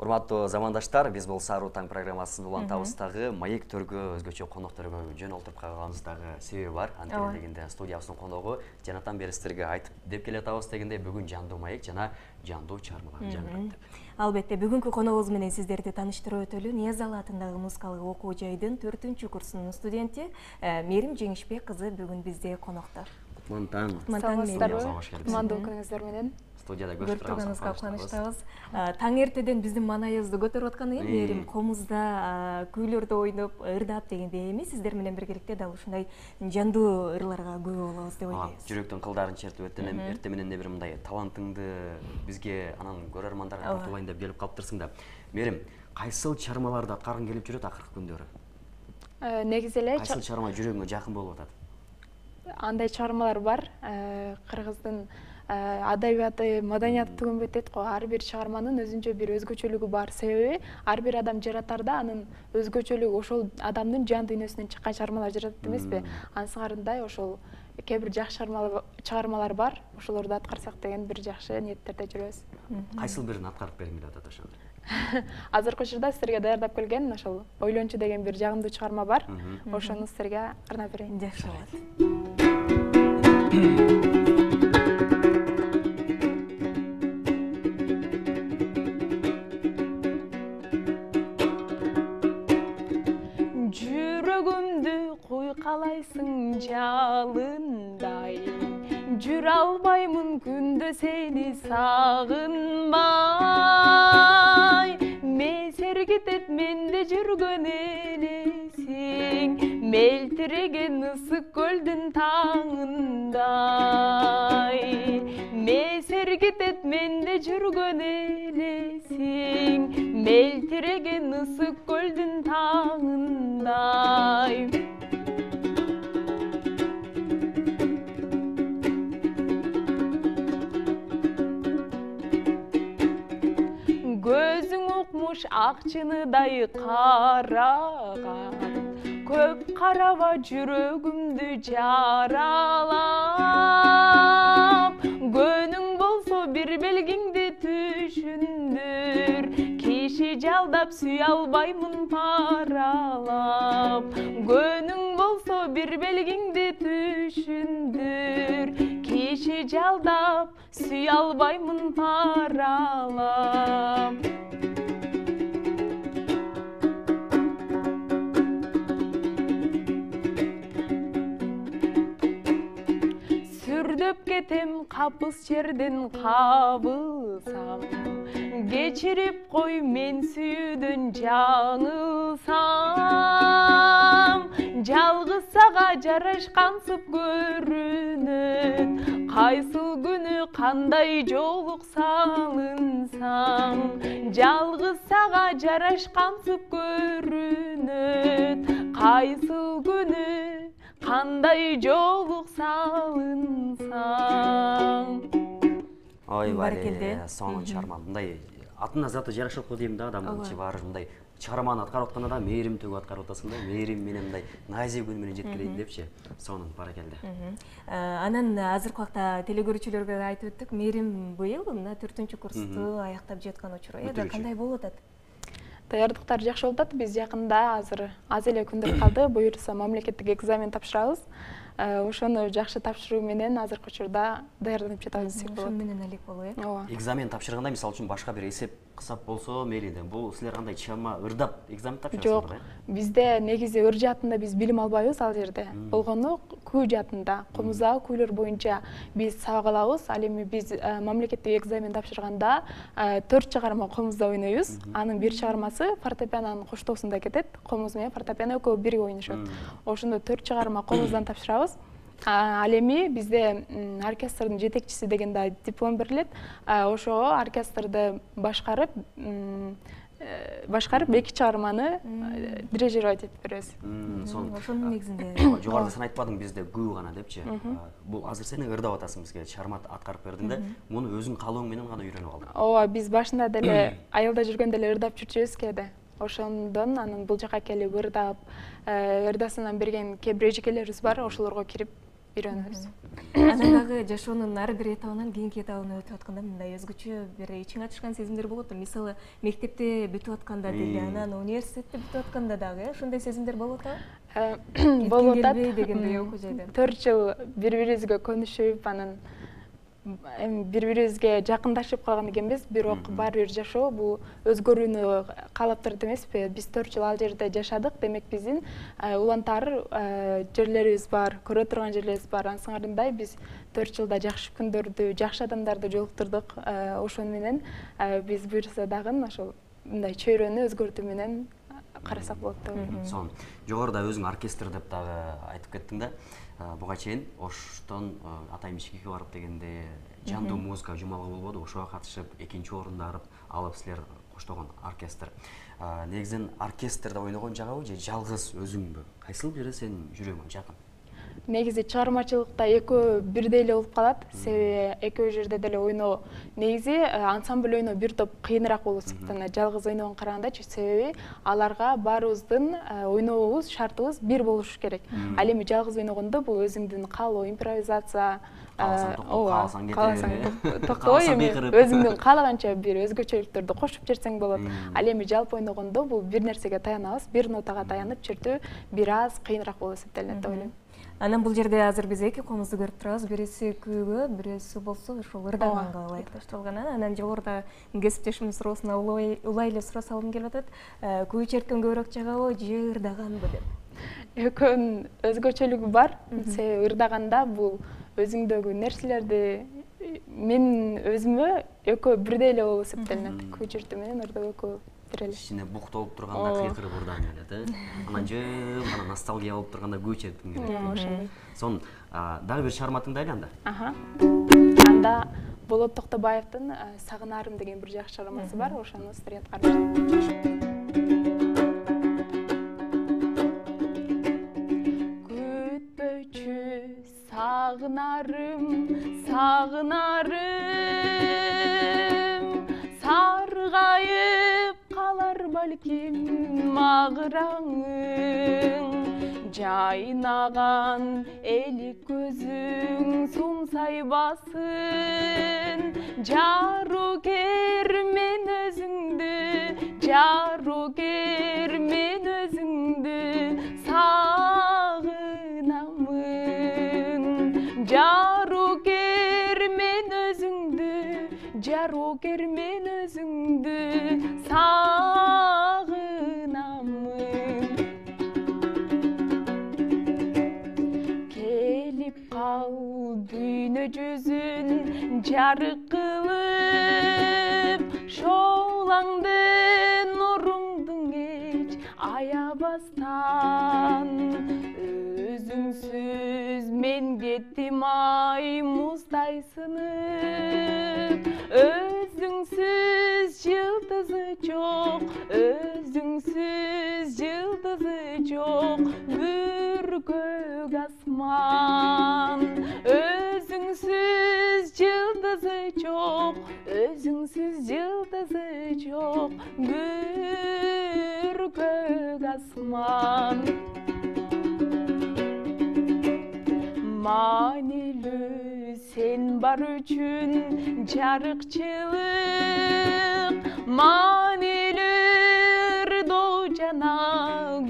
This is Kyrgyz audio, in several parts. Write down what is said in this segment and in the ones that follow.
Урматтуу замандаштар, биз бул Саруу таң программасын улантабыз дагы, маек төргө өзгөчө конокторго жөн олтуруп калганыбыз дагы себеби бар. Анткени дегенде студиябыздын коногу жанатан бери сиздерге айтып деп келе атабыз дегенде бүгүн жандуу маек жана жандуу чыгармаларды жаңыртты. Албетте, бүгүнкү коногубуз менен сиздерди тааныштырып өтөлү. Ниязалы атындагы музыкалык окуу жайдын 4-курсунун студенти Мээрим Жеңишбек кызы бүгүн бизде конокто. Кутман таң. Кутмандуу күнүңүздөр менен. Студияда көрүп турганыбызга кубанычтабыз. Таң эртеден биздин маанайыбызды көтөрүп аткан Мээрим, комузда күүлөрдү ойноп, ырдап дегендей эми сиздер менен биргеликте дал ушундай жандуу ырларга күбө болобуз деп ойлойбуз. Жүрөктүн кылдарын чертип өттүм, эрте менен бир мындай талантыңды бизге анан көрөрмандарга тартуулайын деп келип калыптырсың да. Мээрим, кайсыл чыгармаларды аткаргың келип жүрөт акыркы күндөрү? Негизи эле кайсыл чыгарма жүрөгүңө жакын болуп атат? Андай чыгармалар бар. Кыргыздын адабияты, маданияты түгөнбөйт дейт го. Ар бир чыгарманын өзүнчө бир өзгөчөлүгү бар. Себеби ар бир адам жаратарда анын өзгөчөлүгү ошол адамдын жан дүйнөсүнөн чыккан чыгармалар жаратат эмеспи? Ансыгарындай ошол кээ бир жакшы чыгармалар бар. Ошолорду аткарсак деген бир жакшы ниеттерде жүрөбүз. Кайсыл бирин аткарып бергиң келип атат ошондо? Азыркы учурда сиздерге даярдап келген ошол Ойлончу деген бир жагымдуу чыгарма бар. Ошону сиздерге арнап берейин. Жакшы болот. Жүрөгүмдү куйкалайсың жалындай, жүрө албаймын күндө сени сагынбай. Мен сергитет менде жүргөн элесиң, мелтиреген ысык көлдүн таңындай. Мен сергитет менде жүргөн элесиң, мелтиреген ысык көлдүн таңындай. Көзүң укмуш ак чыныдай караган, көп караба жүрөгүмдү жаралап. Көнүң болсо бир белгиңди түшүндүр, киши жалдап сүйө албаймын паралап. Көнүң болсо бир белгиңди түшүндүр, киши жалдап сүйө албаймын паралап. Сүрдөп кетем капыс жерден кабылсам, кечирип кой мен сүйүүдөн жаңылсам. Жалгыз сага жарашкансып көрүнөт, кайсыл күнү кандай жолук салынсаң. Жалгыз сага жарашкансып көрүнөт, кайсыл күнү кандай жолук салынсаң. Баракелде. Сонун чыгарма. Мындай атына заты жарашат го дейм да, адамдын ичи баары мындай чыгарманы аткарып атканда да Мээрим төгүп аткарып атасың да, Мээрим менен мындай назик үн менен жеткирейин депчи. Сонун, баракелде. Анан азыркы убакта телекөрүүчүлөргө айтып өттүк, Мээрим быйыл мына 4-курсту аяктап жаткан учуру. Кандай болуп атат? Даярдыктар жакшы болуп атат. Биз жакында азыр аз эле күндөр калды. Буюрса мамлекеттик экзамен тапшырабыз. Ошону жакшы тапшыруу менен азыркы учурда даярданып жатабыз десек болот. Ошон менен элек болобу, Ооба. Экзамен тапшырганда, мисалы үчүн башка бир эсеп кысап болсо мейли. Бул силер кандай чыгарма ырдап экзамен тапшырасыңар? Жок, бизде негизи ыр жаатында биз билим албайбыз ал жерде. Болгону күү жаатында, комуздагы күүлөр боюнча биз сабак алабыз. Ал эми биз мамлекеттик экзамен тапшырганда 4 чыгарма комузда ойнойбуз. Анын бир чыгармасы фортепианонун коштоосунда кетет. Комуз менен фортепиано экөө бирге ойношот. Ошондо 4 чыгарма комуздан тапшырабыз. Ал эми бизде оркестрдин жетекчиси деген да диплом берилет. Ошого оркестрди башкарып 2 чыгарманы дирижировать этип беребиз. Ошонун негизинде. Жогоруда сен айтпадың бизде күү гана депчи. Бул азыр сен ырдап атасың, бизге чыгарма аткарып бердиң да, муну өзүң калооң менен гана үйрөнүп алдың. Ооба, биз башында деле айылда жүргөндө эле ырдап жүрчүбүз кээде. Ошондон анан бул жака келип ырдап, ырдасынан берген кээ бир эжекелерибиз бар, ошолорго кирип үйрөнөбүз. Анан дагы жашоонун ар бир этабынан кийинки этабына өтүп атканда мындай өзгөчө бир ичиңе ачышкан сезимдер болот. Мисалы, мектепте бүтүп атканда деле, анан университетте бүтүп атканда дагы ошондой сезимдер болуп атабы? Болуп атат. Дегендей окуу жайдан. 4 жыл бири-бирибизге көнүшүп, анан эми бири-бирибизге жакындашып калган экенбиз, бирок баары бир жашоо бул өзгөрүүнү каалап турат эмеспи? Биз 4 жыл ал жерде жашадык, демек биздин улантар жерлерибиз бар, көрө турган жерлерибиз бар. Ансыңарындай биз 4 жылда жакшы күндөрдү, жакшы адамдарды жолуктурдук. Ошону менен биз буюрса дагы ошол мындай чөйрөнү өзгөртүү менен карасак болот деп ойлойм. Сонун. Жогоруда өзүң оркестр деп дагы айтып кеттиң да. Буга чейин Оштон Атай Мичкеге барып дегенде жандуу музыка жумалгы болбоду, ошого катышып экинчи орунду алып силер коштогон оркестр. Негизинен оркестрде ойногон жагабы же жалгыз өзүңбү? Кайсыл бири сенин жүрөгүңө жакын? Негизи чыгармачылыкта экөө бирдей эле болуп калат, себеби экөө жерде деле ойноо негизи ансамбль ойноо бир топ кыйыныраак болуп эсептелет жалгыз ойногон карагандачы, себеби аларга баарыбыздын ойнообуз, шартыбыз бир болуш керек. Ал эми жалгыз ойногондо бул өзүңдүн каалоо, импровизация, кааласаң токтобой, эми өзүңдүн каалаганча бир өзгөчөлүктөрдү кошуп жиберсең болот. Ал эми жалпы ойногондо бул бир нерсеге таянабыз, бир нотага таянып чыртуу бир аз кыйыныраак болуп эсептелет деп ойлойм. Анан бул жерде азыр биз эки комузду көрүп турабыз. Бириси күүгө, бириси болсо ошол ырдаганга ылайыкташтырылган. Анан жогоруда кесиптешимдин суроосуна улай эле суроо салгым келип атат. Күү черткен көбүрөөк жагабы же ырдаганбы деп? Экөөнүн өзгөчөлүгү бар. Себеби ырдаганда бул өзүңдөгү нерселерди мен өзүмө экөө бирдей эле болуп эсептелет. Күү чертүү менен ырдоо экөө бир эле. Ичине бук толуп турганда кыйкырып ырдагың келет, Анан жым, анан ностальгия болуп турганда күү чертиң келет. Ошондой. Сонун. Дагы бир чыгарма тыңдайлы анда. Анда Болот Токтобаевдин Сагынарым деген бир жакшы чыгармасы бар. Ошону студент карап. Сагынарым, саргайып калар балким магыраңың, жайнаган элик көзүң сумсайбасын, жарукер мен өзүңдү, жарукер мен өзүңдү сагынамын, жарукер мен өзүңдү, жарукер мен өзүңдү сагынамын. Келип кал дүйнө жүзүн жарык кылып, шоулаңды нуруңдун кеч аябастан, өзүңсүз мен кеттим ай муздай сынып, өзүңсүз жылдызы жок, өзүңсүз жылдызы жок бүркөк асман, өзүңсүз жылдызы жок, өзүңсүз жылдызы жок бүркөк асман. Маанилүү сен бар үчүн жарыкчылык, маанилүү ырдоо жана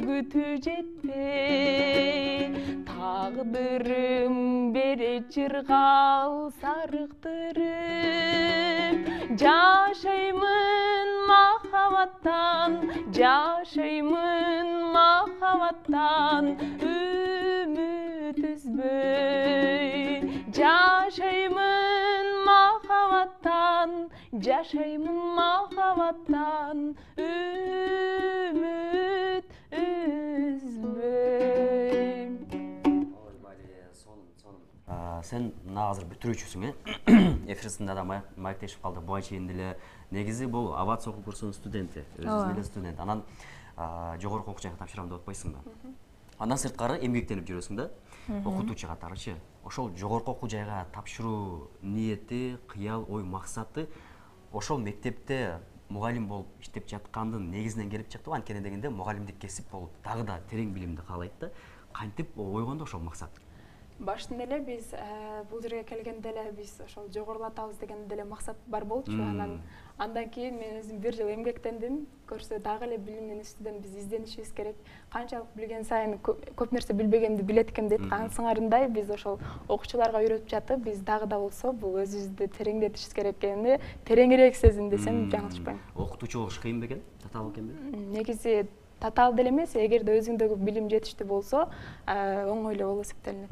күтүү жетпей, тагдырым берет жыргал сарыктырып, жашаймын махабаттан, жашаймын махабаттан үмүт үзбөй, жашаймын махабаттан, жашаймын махабаттан үмүт үзбөй. Сен азыр бүтүрүүчүсүң, эфирсинде да маектешип калды. Буга чейин деле негизи бул авиация окуу курсунун студенти, өзүң деле студент. Анан жогорку окуу жайга тапшырам деп атпайсыңбы? Андан сырткары эмгектенип жүрөсүң да, окутуучу катарычы. Ошол жогорку окуу жайга тапшыруу ниети, кыял, ой, максаты ошол мектепте мугалим болуп иштеп жаткандын негизинен келип чыктыбы? Анткени дегенде мугалимдик кесип болуп дагы да терең билимди каалайт да. Кантип ойгонду ошол максат? Баштан эле биз бул жерге келгенде эле биз ошол жогорулатабыз деген деле максат бар болчу. Андан кийин мен өзүм 1 жыл эмгектендим. Көрсө дагы эле билимдин үстүнөн биз изденишибиз керек. Канчалык билген сайын көп нерсе билбегенди билет экем дейт. Сыңарындай биз ошол окуучуларга үйрөтүп жатып, биз дагы да болсо бул өзүбүздү тереңдетишибиз керек экенин тереңирээк сездим десем жаңылышпайм. Окутуучу болуш кыйын бекен? Татаал экенби? Негизи татаал деле эмес, эгерде өзүңдөгү билим жетиштүү болсо, оңой эле болуп эсептелинет.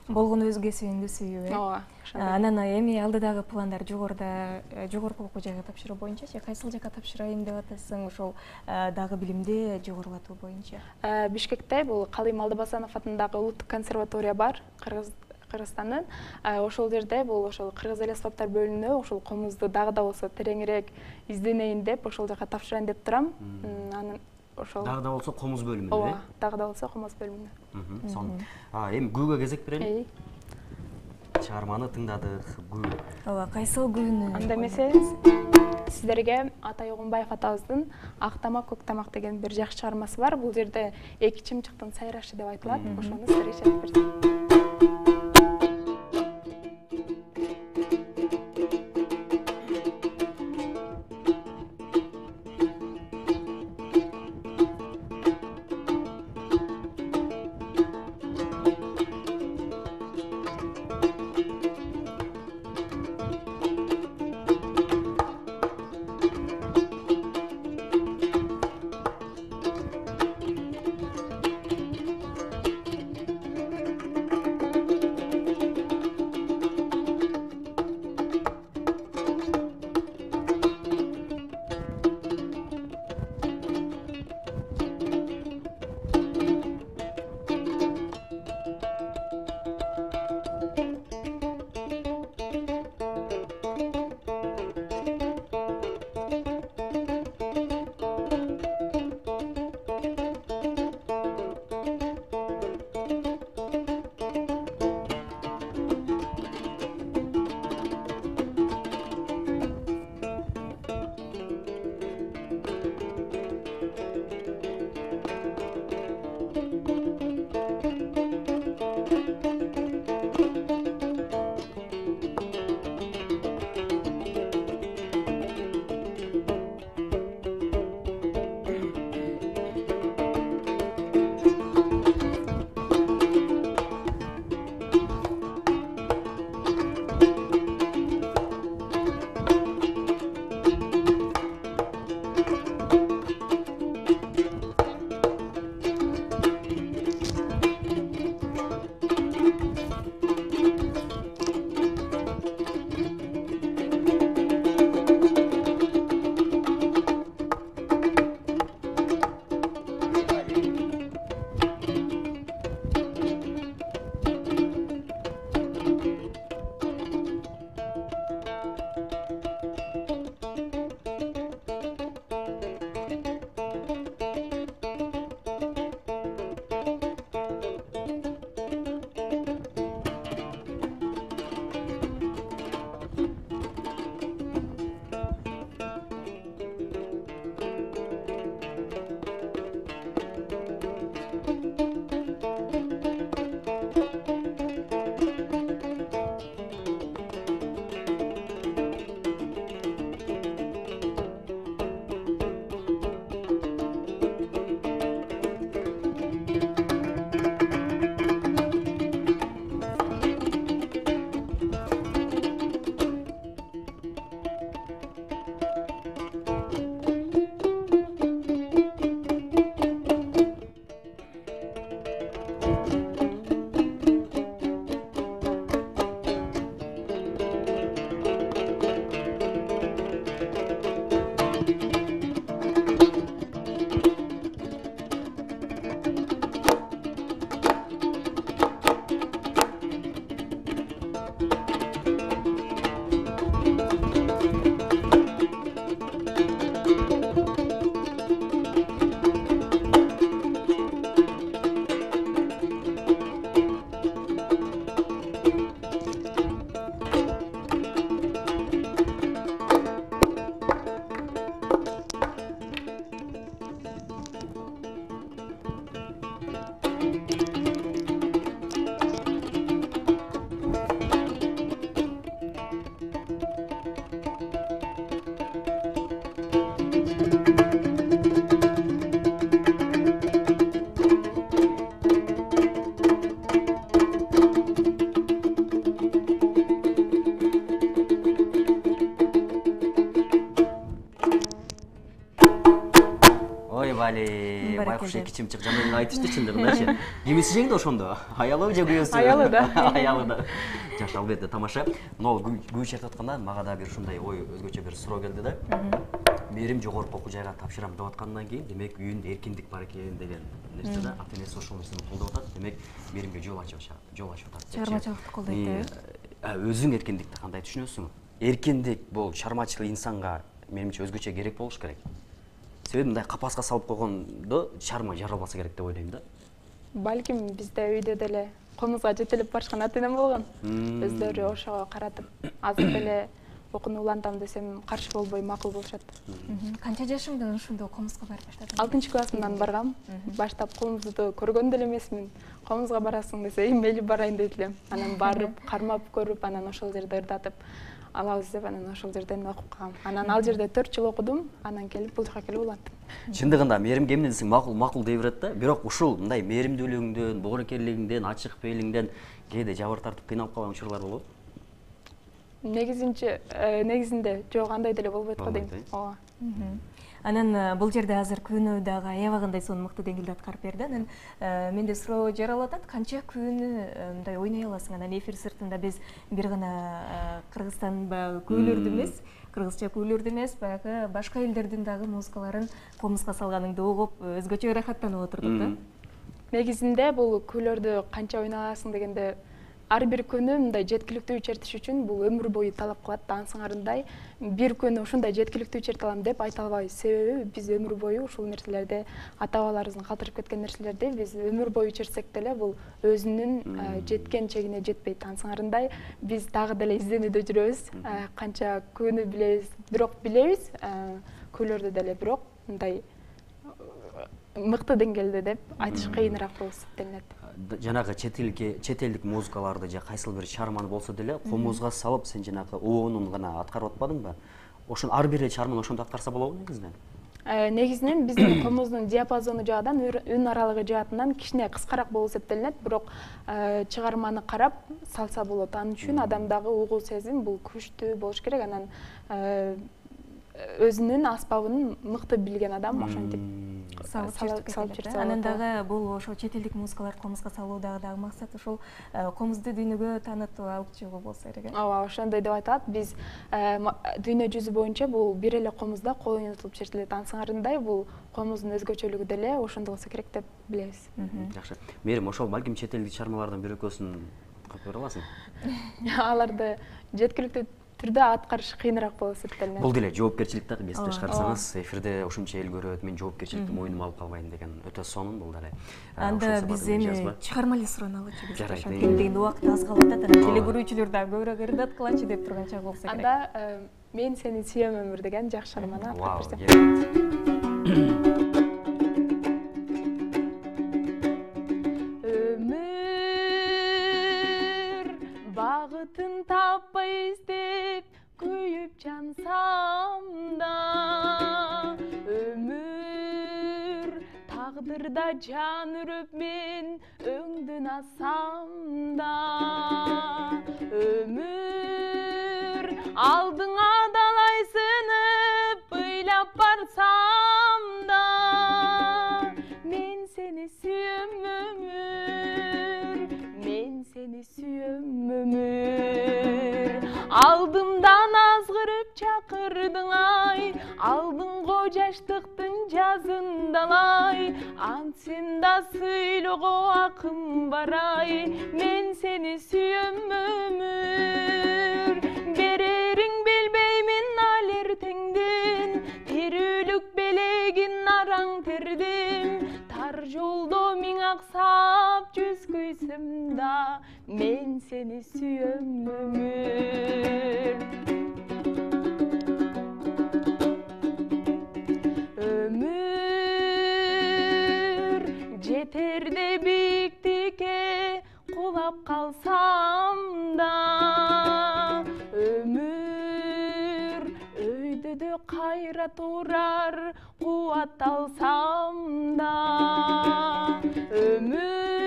Болгону өз кесибиңди сүйүү, Ооба. Анан эми алдыдагы пландар жогорку окуу жайга тапшыруу боюнчачы кайсыл жака тапшырайын деп атасың, ошол дагы билимди жогорулатуу боюнча? Бишкекте бул Калыйм Алдабасанов атындагы улуттук консерватория бар, Кыргызстандын. Ошол жерде бул ошол кыргыз эл аспаптар бөлүмүнө ошол комузду дагы да болсо тереңирээк изденейин деп ошол жака тапшырайын деп турам. Анан ошол дагы да болсо комуз бөлүмүнө, Ооба, дагы да болсо комуз бөлүмүнө. Сонун. Эми күүгө кезек берели. Чыгарманы тыңдадык, күү. Ооба, кайсыл күүнү? Анда эмесе сиздерге Атай Огунбаев атабыздын Ак тамак, көк тамак деген бир жакшы чыгармасы бар. Бул жерде эки чымчыктын сайрашы деп айтылат. Ошону сиздерге чечип берсем. бали байкуш эки чымчык жаман айтышты чындыгындачы. Кимиси жеңди ошондо? Аялы же күйөөсү? Аялы да. Аялы да. Жакшы, албетте тамаша. Но күй чертип атканда мага да бир ушундай ой, өзгөчө бир суроо келди да. Мээрим жогорку окуу жайга тапшырам деп аткандан кийин, демек үйүндө эркиндик бар экен деген нерсе да. Ата-энеси ошол нерсени колдоп атат. Демек мээримге жол ачып атат. Чыгармачылыкты колдойт. Өзүң эркиндикти кандай түшүнөсүң? Эркиндик бул чыгармачыл инсанга менимче өзгөчө керек болуш керек. Себеби мындай капаска салып койгондо чыгарма жаралбаса керек деп ойлойм да. Балким бизде үйдө деле комузга жетелеп барышкан ата-энем болгон. Өздөрү ошого каратып, азыр деле окууну улантам десем каршы болбой макул болушат. Канча жашыңдан ушундай комузга барып баштадың? 6-классымдан баргам. Баштап комузду көргөн деле эмесмин. Комузга барасың десе, мейли барайын дейт элем. Анан барып, кармап көрүп, анан ошол жерде ырдатып алабыз деп, анан ошол жерден окуп калгам. Анан ал жерде 4 жыл окудум, анан келип бул жака келип улантым. Чындыгында мээрим эмне десең макул дей берет да. Бирок ушул мындай мээримдүүлүгүңдөн, боорукерлигиңден, ачык пейилиңден кээде жабыр тартып кыйналып калган учурлар болобу? Негизинде жок, андай деле болбойт го дейм. Ооба. Анан бул жерде азыр күнөө дагы аябагандай сонун мыкты деңгээлде аткарып берди. Анан менде суроо жаралып атат, канча күнү мындай ойной аласың? Анан эфир сыртында биз бир гана Кыргызстан баягы күүлөрдү эмес, кыргызча күүлөрдү эмес, баягы башка элдердин дагы музыкаларын комузга салганыңды угуп, өзгөчө ырахаттанып отурдук да. Негизинде бул күүлөрдү канча ойной аласың дегенде, ар бир күнү мындай жеткиликтүү чертиш үчүн бул өмүр бою талап кылат. Ансыңарындай бир күнү ушундай жеткиликтүү черте алам деп айта албайбыз. Себеби биз өмүр бою ушул нерселерди, ата-бабаларыбыздын калтырып кеткен нерселерди биз өмүр бою чертсек деле бул өзүнүн жеткен чегине жетпейт. Ансыңарындай биз дагы деле изденүүдө жүрөбүз. Канча күнү билебиз, бирок билебиз күүлөрдү деле, бирок мындай мыкты деңгээлде деп айтыш кыйыныраак болуп эсептелинет. Жанагы чет элдик музыкаларды же кайсыл бир чыгарманы болсо деле комузга салып сен жанагы оонун гана аткарып атпадыңбы? Ошон ар бир чыгарманы ошондо аткарса болобу негизинен? Негизинен биздин комуздун диапазону жагынан, үн аралыгы жаатынан кичине кыскараак болуп эсептелинет, бирок чыгарманы карап салса болот. Ал үчүн адамдагы угуу сезим бул күчтүү болуш керек. Анан өзүнүн аспабын мыкты билген адам ошентип салып чертсе. Анан дагы бул ошо чет элдик музыкаларды комузга салуудагы дагы максат ошол комузду дүйнөгө таанытып алып чыгуу болсо керек. Ооба, ошондой деп атат. Биз дүйнө жүзү боюнча бул бир эле комузда кол ойнотулуп чертилет. Ансыңарындай бул комуздун өзгөчөлүгү деле ошондо болсо керек деп билебиз. Жакшы. Мээрим ошол балким чет элдик чыгармалардан бир экөөсүн кылып бере аласың? Аларды жеткиликтүү түрдө аткарыш кыйыныраак болуп эсептелинет. Бул деле жоопкерчилик да, эсте чыгарсаңыз, эфирде ушунча эл көрөт, мен жоопкерчиликти мойнума алып калбайм деген өтө сонун бул деле. Анда биз эми чыгарма эле суроону алачыбыз. Ошентип дегенде убакыт аз калып атат, анан теле көрүүчүлөр дагы көбүрөөк ырдаткылачы деп турган чак болсо керек. Анда мен сени сүйөм өмүр деген жакшы чыгарманы аткарып берсем. Багытын таппай издеп күйүп жансам да, өмүр тагдырда жан үрүп мен өңдөн асам да, өмүр алдыңа далай сынып ыйлап барсам да, мен сени сүйөм өмүр, мен сени сүйөм өмүр. Алдымдан азгырып чакырдың ай, алдыңго жаштыктын жазындалай, антсем да сыйлоого акым бар ай, мен сени сүйөм өмүр. Берерин билбеймин ал эртеңден, тирүүлүк белегин араң тердим, тар жолдо миң аксап жүз күйсөм да, мен сени сүйөм өмүр. Өмүр жетерде биктикке кулап калсам да, өмүр өйдөдө кайра турар кубат алсам да, өмүр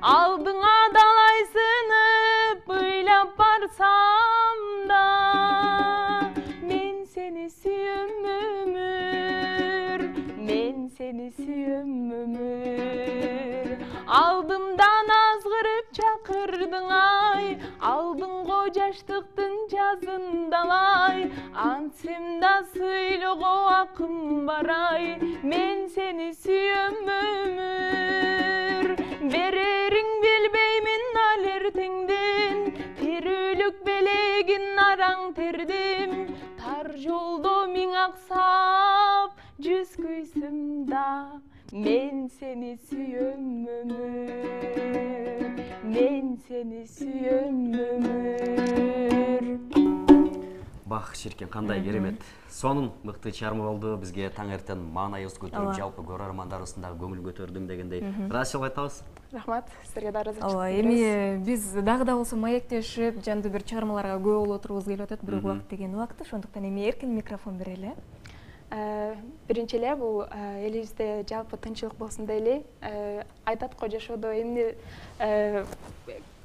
алдыңа далай сынып ыйлап барсам да, мен сени сүйөм өмүр. кетсем да сыйлоого акым бар ай, мен сени сүйөм өмүр. Берерин билбеймин ал эртеңден, тирүүлүк белегин араң тердим. Тар жолдо миң аксап жүз күйсүм да, мен сени сүйөм өмүр, мен сени сүйөм өмүр. Бах, Ширкен, кандай керемет. Сонун мыкты чыгарма болду. Бизге таң эртен маанайыбызды көтөрүп, жалпы көрөрмандарыбыздын дагы көңүлүн көтөрдүм дегендей. Ыраазычылык айтабыз. Рахмат, сизерге да ыраазычылык Ооба, эми биз дагы да болсо маектешип, жандуу бир чыгармаларга көп болуп отурубуз келип атат, бирок убакыт деген убакыт, ошондуктан эми эркин микрофон берели. Биринчи эле бул элибизде жалпы тынччылык болсун дейли. Айтат го жашоодо эмне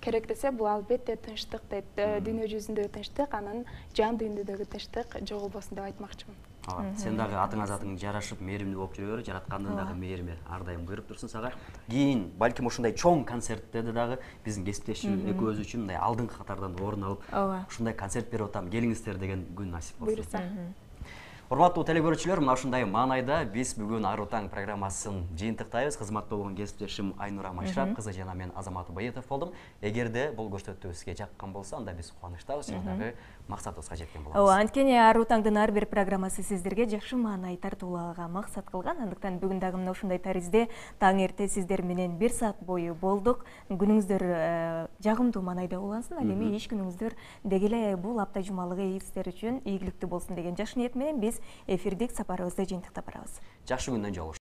керек десе, бул албетте тынчтык дейт. Дүйнө жүзүндөгү тынчтык, анан жан дүйнөдөгү тынчтык жоголбосун деп айтмакчымын. Ооба, сен дагы атыңа затың жарашып, мээримдүү болуп жүрө бер, жараткандын дагы мээрими ар дайым буйруп турсун сага. Кийин балким ушундай чоң концерттерде дагы биздин кесиптешибиз экөөбүз үчүн мындай алдыңкы катардан орун алып, ушундай концерт берип атам, келиңиздер деген күн насип болсун. Буйруса. Урматтуу телекөрүүчүлөр, мына ушундай маанайда биз бүгүн Аруу таң программасын жыйынтыктайбыз. Кызматта болгон кесиптешим Айнура Майшырап кызы жана мен Азамат Байытов болдум. Эгерде бул көрсөтүү сизге жаккан болсо, анда биз кубанычтабыз жана дагы максатыбызга жеткен болобуз. Ооба, анткени Аруу таңдын ар бир программасы сиздерге жакшы маанай тартуулаага максат кылган. Андыктан бүгүн дагы мына ушундай таризде таң эрте сиздер менен 1 саат бою болдук. Күнүңүздөр жагымдуу маанайда улансын. Ал эми иш күнүңүздөр деги эле бул апта жумалыгы сиздер үчүн ийгиликтүү болсун деген жакшы ниет менен биз эфирдик сапарыбызды жыйынтыктап барабыз. Жакшы күндөн жолугушалы.